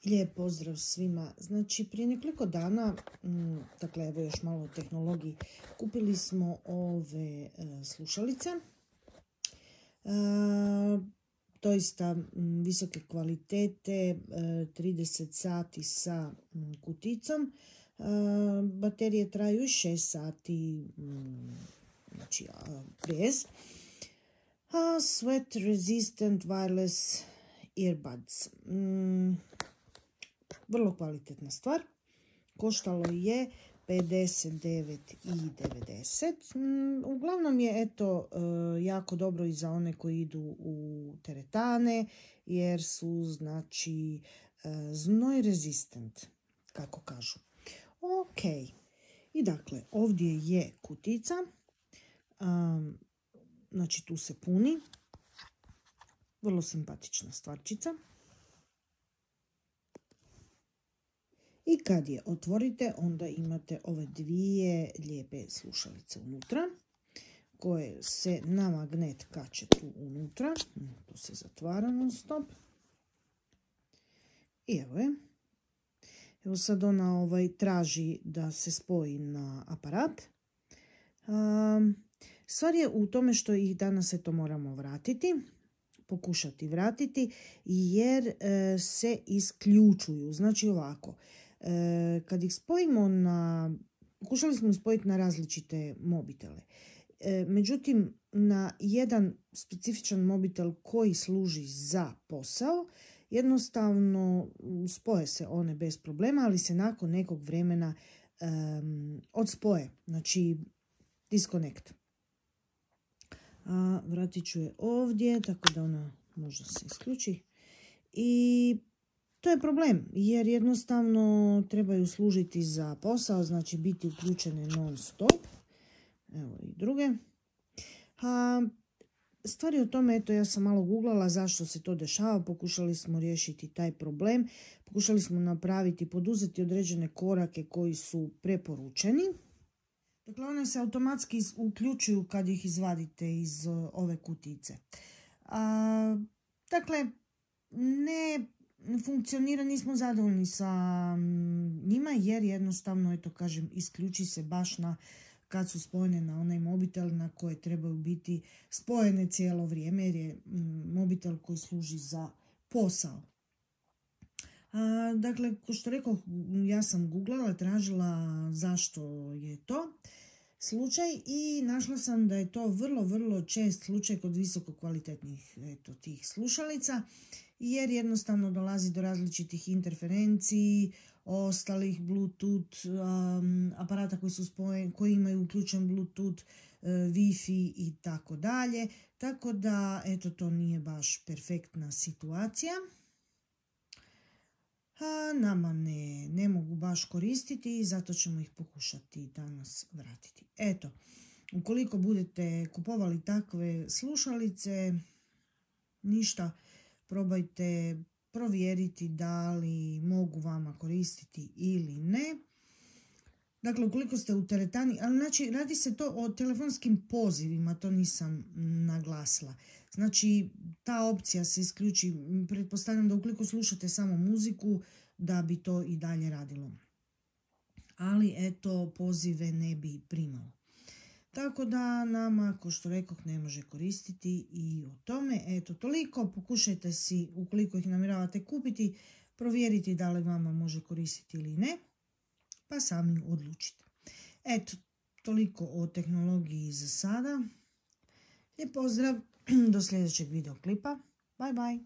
Lijep pozdrav svima. Znači, prije nekoliko dana, dakle, evo još malo o tehnologiji, kupili smo ove slušalice. Doista visoke kvalitete, 30 sati sa kuticom. Baterije traju 6 sati, znači bez. Sweat resistant wireless earbuds. Vrlo kvalitetna stvar. Koštalo je 59,90. Uglavnom je eto jako dobro i za one koji idu u teretane jer su znači znoj rezistent, kako kažu. Ok. I dakle ovdje je kutica. Znači tu se puni. Vrlo simpatična stvarčica. I kad je otvorite, onda imate ove dvije lijepe slušalice unutra, koje se na magnet kače tu unutra. Tu se zatvara non stop. I evo je. Evo sad ona traži da se spoji na aparat. Stvar je u tome što ih danas eto moramo vratiti. Pokušati vratiti jer se isključuju. Znači ovako. Kad ih spojimo pokušali smo ih spojiti na različite mobitele. Međutim, na jedan specifičan mobitel koji služi za posao, jednostavno spoje se one bez problema, ali se nakon nekog vremena odspoje. Znači, disconnect. Vratit ću je ovdje, tako da ona možda se isključi. I to je problem, jer jednostavno trebaju služiti za posao, znači biti uključene non stop. Evo i druge. Stvar je o tome, eto ja sam malo googlala zašto se to dešava, pokušali smo riješiti taj problem, pokušali smo poduzeti određene korake koji su preporučeni. Dakle, one se automatski uključuju kad ih izvadite iz ove kutice. Dakle, ne funkcionira, nismo zadovoljni sa njima jer jednostavno, eto kažem, isključi se baš kad su spojene na onaj mobitel na koje trebaju biti spojene cijelo vrijeme jer je mobitel koji služi za posao. Dakle, kao što rekao, ja sam googlala, tražila zašto je to slučaj i našla sam da je to vrlo čest slučaj kod visoko kvalitetnih tih slušalica jer jednostavno dolazi do različitih interferenciji, ostalih Bluetooth aparata koji imaju uključen Bluetooth, Wi-Fi i tako dalje. Tako da, eto, to nije baš perfektna situacija. Nama ne mogu baš koristiti i zato ćemo ih pokušati danas vratiti. Eto, ukoliko budete kupovali takve slušalice, ništa, probajte provjeriti da li mogu vama koristiti ili ne. Dakle, ukoliko ste u teretani, ali znači radi se to o telefonskim pozivima, to nisam naglasila. Znači, ta opcija se isključi, pretpostavljam da ukoliko slušate samo muziku, da bi to i dalje radilo. Ali, eto, pozive ne bi primalo. Tako da nama, kao što rekoh, ne može koristiti i o tome. Eto, toliko. Pokušajte si, ukoliko ih namjeravate kupiti, provjeriti da li vama može koristiti ili ne, pa sami odlučite. Eto, toliko o tehnologiji za sada. Lijep pozdrav, do sljedećeg videoklipa. Bye bye.